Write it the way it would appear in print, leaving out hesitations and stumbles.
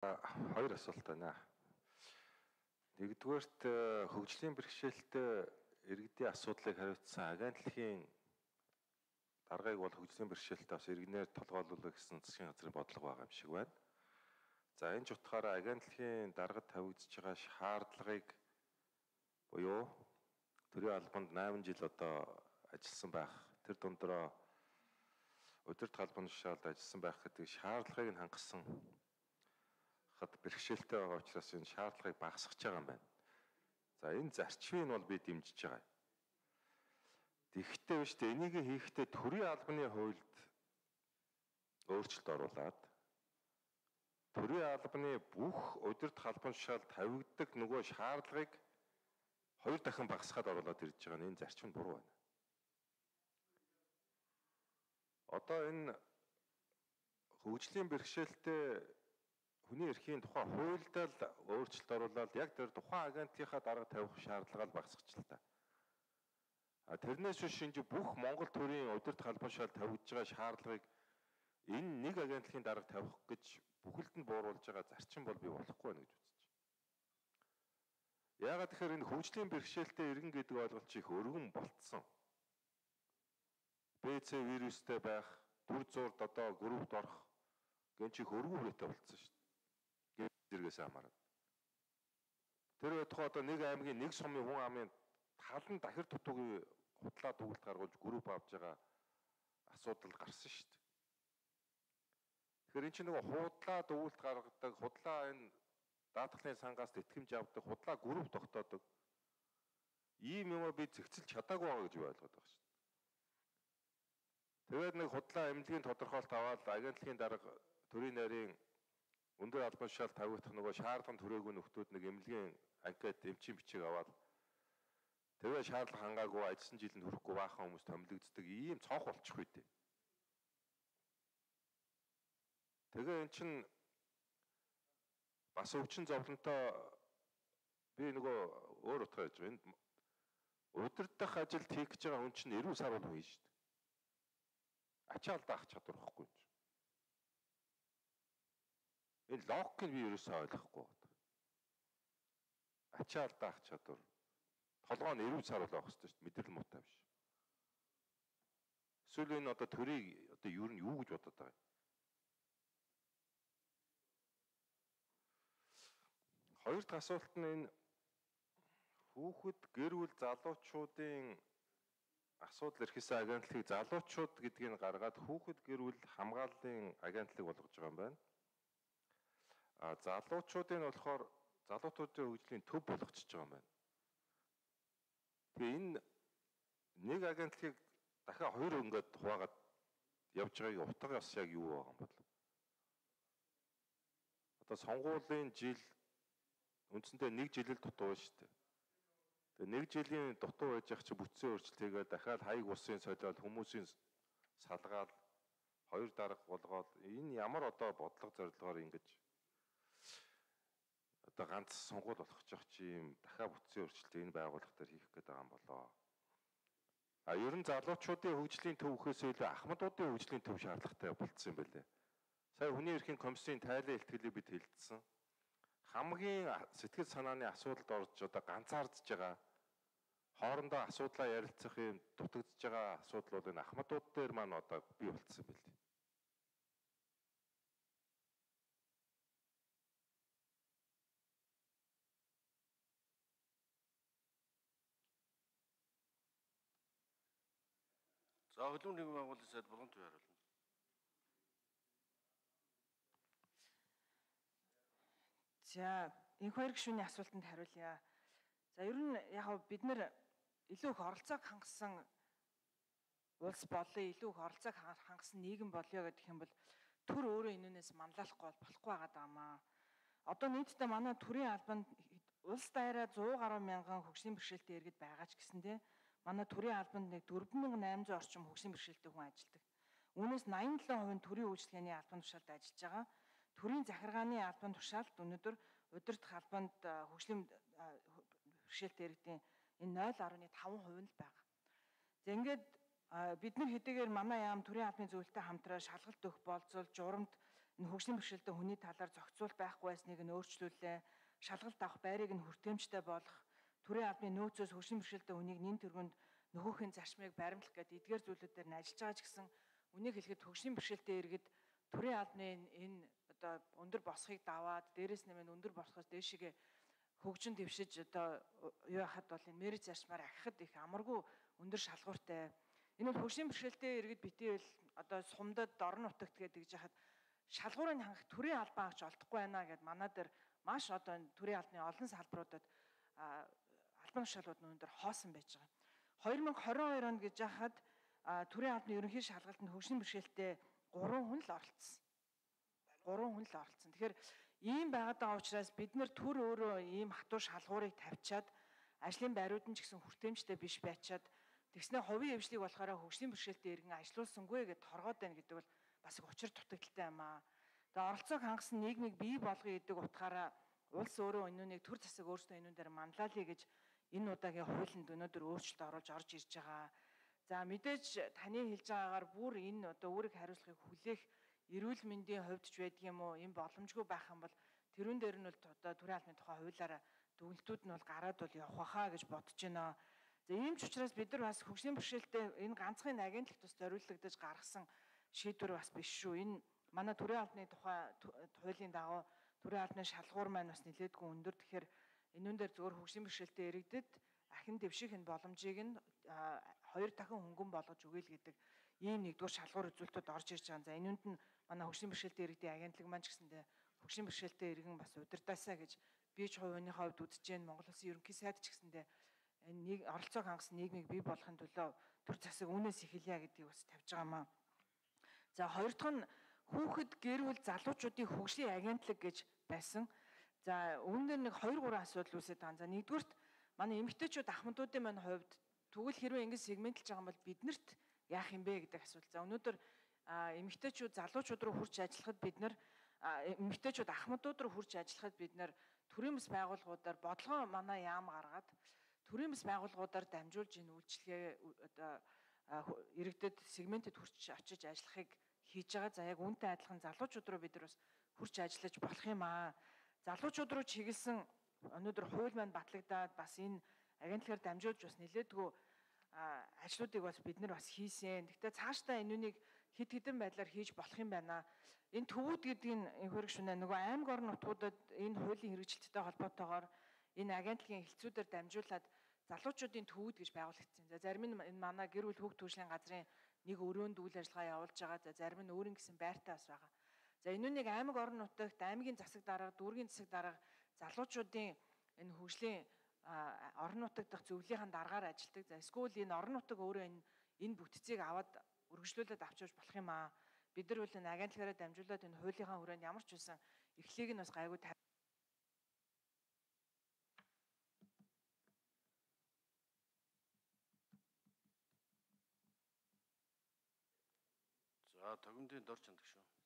Хоёр асуулт байна. Нэгдүгээрт хөгжлийн бэрхшээлтэй иргэдийн асуудлыг хариуцсан агентлагийн даргаыг бол хөгжлийн бэрхшээлтэй бас иргэнээр толгойлуулах гэсэн засгийн газрын бодлого байгаа юм шиг байна. За энэ ч утгаараа агентлагийн даргад тавигдж байгаа шаардлагыг буюу төрийн албанд 8 жил одоо ажилласан байх, тэр дундороо удирдах албаны тушаалд ажилласан байх гэдэг шаардлагыг нь хангасан бэрхшээлтэй байгаа учраас энэ шаардлагыг багасгах байгаа юм байна. За энэ зарчмыг нь бол би дэмжиж байгаа. Тэгэхдээ биш дээ, энийг хийхдээ төрийн албаны хуульд өөрчлөлт оруулад төрийн албаны бүх удирдах албан тушаалд тавигддаг нөгөө шаардлагыг 2 дахин багасгаад оруулаад ирж байгаа нь энэ зарчим нь буруу байна. Одоо энэ хөгжлийн бэрхшээлтэй хүний эрхийн тухай хуульд л өөрчлөлт оруулаад яг тэр тухайн агентлагийнхаа дарга тавих шаардлагаа л багасгач л та. Тэрнээс биш энэ бүх Монгол төрийн удирдах албан тушаалд тавигдж байгаа шаардлагыг энэ нэг агентлагийн дарга тавих гэж бүхэлд нь бууруулж байгаа зарчим бол би болохгүй байна гэж үзэж байна. Яагаад тэгэхээр энэ хөгжлийн бэрхшээлтэй иргэн гэдэг ойлголт их өргөн болцсон. БЦ вирустэй байх, дүр зурд одоо группт орох гэн чих өргөн хүрээтэй болцсон шүү дээ. Зэрэгээс хамаарат. Тэр байтугай одоо нэг аймгийн нэг сумын хүн амын тал нь дахир дутуугийн худлаа дүгэлт гаргуулж групп авч байгаа асуудал гарсан шүү дээ. Тэгэхээр эн чинь нөгөө худлаа дүгэлт гаргадаг, худлаа энэ даатгалын сангаас тэтгэмж авдаг, худлаа групп тогтоодог. Ийм юм би зэгцэлж чадаагүй байгаа гэж ойлгоод байгаа шүү дээ. Тэгээд нэг худлаа эмнэлгийн тодорхойлт аваад агентлагийн дарга төрийн нарийн өндөр албан тушаалд тавигдах нөгөө шаардлага түрээгүй нөхдүүд нэг эмнэлгийн анкет эмчийн бичиг аваад тэгээ шаардлага хангаагүй ажилласан жилд хүрэхгүй баахан хүмүүс томилогддог ийм цонх болчих үйтэй. Тэгээ эн чинь бас өвчин зовлонтой би нөгөө өөр утгаар гэж байна. Удирдах ажилд хийх гэж байгаа хүн чинь 90 сар бол хийж шүү дээ. Ачаалт авах чадвар واخгүй юм чинь. Энэ логикийг би ерөөсөө ойлгохгүй байна. Ачаалт авах чадвар толгой нь 90 сар бол авах хэрэгтэй шүү дээ. Мэдрэл муутай биш. Эсвэл энэ одоо төрийг одоо юу нь юу гэж бодоод байгаа юм. Хоёр дахь асуулт нь энэ хүүхэд гэр бүл залуучуудын асуудал эрхэлсэн агентлагийг залуучууд гэдгийг гаргаад хүүхэд гэр бүл хамгааллын агентлаг болгож байгаа юм байна. Залуучуудын болохоор залуучуудын хөгжлийн төв болгочихж байгаа юм байна. Тэгээ энэ нэг агентлагийг дахиад 2 ингээд хуваагаад явж байгааг утга бас яг юу байгаа юм бол. Одоо сонгуулийн жил үндсэндээ 1 жил л дутуу шүү дээ. Тэгээ 1 жилийн дутуу байж ах чи бүтцийн өөрчлөлтийгээ дахиад хаяг усын солиод хүмүүсийн салгаал 2 дарга болгоод энэ ямар одоо бодлого зорилгоор ингэж одоо ганц сонгуул болгох ч юм дахиад бүтцийн өөрчлөлт энэ байгууллага дээр хийх гээд байгаа юм болоо. Ер нь залуучуудын хөгжлийн төвхөөс илүү ахмадуудын хөгжлийн төв шаардлагатай болцсон юм байлээ. Сая хүний эрхийн комиссийн тайлан илтгэлийг бид хэлэлцсэн. Хамгийн сэтгэл санааны асуудалд орж одоо ганцаардж байгаа хоорондоо асуудлаа ярилцах юм дутагдж байгаа асуудал бол энэ ахмадууд дээр маань одоо бий болцсон юм байлээ. За хөлбөмбөгийн нэгэн байгууллагын сайд Бурган Төв хариулна. За энэ хоёр гишүүний асуултанд хариулъя. За ер нь яг бид нар илүү их оролцоог хангасан улс болоо, илүү их оролцоог хангасан нийгэм болё гэдэг юм бол төр өөрөө энүүнээс манлайлахгүй болохгүй байгаа маа. Одоо нийтдээ манай төрийн албанд улс даяараа 100 гаруй мянган хөгжлийн бэрхшээлтэй иргэд байгаа ч гэсэндээ манай төрийн албанд нэг 4800 орчим хөгжлийн бэрхшээлтэй хүн ажилладаг. Үүнээс 87% нь төрийн үйлчилгээний албан тушаалд ажиллаж байгаа. Төрийн захиргааны албан тушаалд өнөөдөр удирдах албанд хөгжлийн бэрхшээлтэй иргэдийн энэ 0.5% нь л байгаа. За ингээд бид нар хэдийгээр манай яам төрийн албаны зөвлөлтөд хамтран шалгалт өгөх болцол журамд энэ хөгжлийн бэрхшээлтэй хүний талаар зохицуул байхгүй байсныг нь өөрчлүүлээ. Шалгалт авах байрыг нь хүртээмжтэй болгох, төрийн албаны нөөцөөс хөгжлийн бэрхшээлтэй хүнийг нэн тэргүнд нөхөхийн зарчмыг баримтлах гэдэг эдгээр зүйлүүдээр нь ажиллаж байгаа ч гэсэн үнийг хэлэхэд хөгжлийн бэрхшээлтэй иргэд төрийн албаны энэ одоо өндөр босхийг даваад дээрээс нэмээд өндөр босхоос дээшигээ хөгжин дэвшиж одоо юу яхад бол энэ мэрэг зарчмаар ахихад их амаргүй өндөр шалгууртай. Энэ бол хөгжлийн бэрхшээлтэй иргэд битгий л одоо сумдад орон нутагт гэдэг жахад шалгуурыг хангах төрийн албан авч олдохгүй байна гэд манай дээр маш одоо энэ төрийн албаны олон салбаруудад албан тушаалууд нь өндөр хоосон байж байгаа. 2022 онд гэж яхад төрийн албаны ерөнхий шалгалтанд хөгжлийн бэрхшээлтэй 3 хүн л оролцсон. 3 хүн л оролцсон. Тэгэхээр ийм байгаад учраас бид нэр төр өөрөө ийм хатуу шалгуурыг тавьчаад ажлын байрууд нь ч гэсэн хүртээмжтэй биш байчаад тэгснэ хувийн эвжлийг болохоор хөгжлийн бэрхшээлтэй иргэн ажилуулсангүй гэж торгоод байна гэдэг бол бас их учир дутагдaltaй юм аа. Тэгээ оролцоог хангасан нийгмийг бий болгоё гэдэг утгаараа улс өөрөө энүүнийг төр засаг өөрсдөө энүүн дээр манлайлъя гэж энэ удаагийн хуулинд өнөөдөр өөрчлөлт оруулж орж ирж байгаа. За мэдээж таны хэлж байгаагаар бүр энэ одоо үүрэг хариуцлагыг хүлээх эрүүл мэндийн хувьд ч байдаг юм уу, энэ боломжгүй байх юм бол тэрүүн дээр нь бол одоо төрийн албаны тухай хуулиараа дүгнэлтүүд нь бол гараад бол явах хаа гэж бодож байна. За ийм ч учраас бид нар бас хөгжлийн бэрхшээлтэй энэ ганцхан агентлагт бас зориулагдаж гаргасан шийдвэр бас биш шүү. Энэ манай төрийн албаны тухай хуулийн дагуу төрийн албаны шалгуур маань бас нэлээдгүй өндөр. Тэгэхээр энүүн дээр зөвхөн хөгжлийн бэрхшээлтэй иргэдэд ахин дэвших энэ боломжийг нь 2 дахин хөнгөн болгож өгье л гэдэг ийм нэгдүгээр шалгуур үзүүлэлтүүд орж ирж байгаа. За энүүнд нь манай хөгжлийн бэрхшээлтэй иргэдийн агентлаг маань ч гэсэндээ хөгжлийн бэрхшээлтэй иргэн бас удирдаасаа гэж би ч хувийнхээ хувьд үзэж байна. Монгол Улсын ерөнхий сайд ч гэсэндээ энэ оролцоог хангасан нийгмийг бий болгохын төлөө төр засаг үүнээс эхэлье гэдгийг бас тавьж байгаа маа. За хоёр дахь нь хүүхэд гэр бүл залуучуудын хөгжлийн агентлаг гэж байсан. За үүнээр нэг 2 3 асуудал үүсэж байгаа. За нэгдүгürt манай эмэгтэйчүүд ахмадуудын маань хувьд тэгвэл хэрвээ ингэ сегментлж байгаа юм бол биднэрт яах юм бэ гэдэг асуудал. За өнөөдөр эмэгтэйчүүд залуучууд руу хурж ажиллахад бид нар эмэгтэйчүүд ахмадууд руу хурж ажиллахад бид нар төрийн бас байгууллагуудаар бодлогоо манай яам гаргаад төрийн бас байгууллагуудаар дамжуулж энэ үйлчлэгээ одоо иргэдэд сегментэд хурж очиж ажиллахыг хийж байгаа. За яг үүнтэй адилхан залуучууд руу бид нар бас хурж ажиллаж болох юм аа. Залуучууд руу чиглэсэн өнөөдөр хууль маань батлагдаад бас энэ агентлагаар дамжуулж бас нэлээдгүй ажлуудыг бас бид нар бас хийсэн. Гэхдээ цаашдаа энүүнийг хэд хэдэн байдлаар хийж болох юм байна. Энэ төвүүд гэдэг нь энэхэрэг шүнэ нөгөө аймаг орон нутгуудад энэ хуулийн хэрэгжилттэй холбоотойгоор энэ агентлагийн хэлтсүүдээр дамжуулаад залуучуудын төвүүд гэж байгуулагдсан. За зарим нь энэ манай гэр бүл хүүхд төрөлхийн газрын нэг өрөөнд үйл ажиллагаа явуулж байгаа. За зарим нь өөрийн гэсэн байртай бас байгаа. За энүүнийг аймаг орон нутагт аймгийн засаг дарга, дүүргийн засаг дарга залуучуудын энэ хөгжлийн орон нутаг дахь зөвлөлийн дараагаар ажилладаг. За эсвэл энэ орон нутаг өөрөө энэ бүтцийг аваад үргэлжлүүлээд авчиж болох юм аа. Бид нар бол энэ агентлагаараа дамжуулаад энэ хуулийнхаа хүрээнд ямар ч үсэн эхлэлийг нь бас гайгүй За тогтмолын дор чандаг шүү.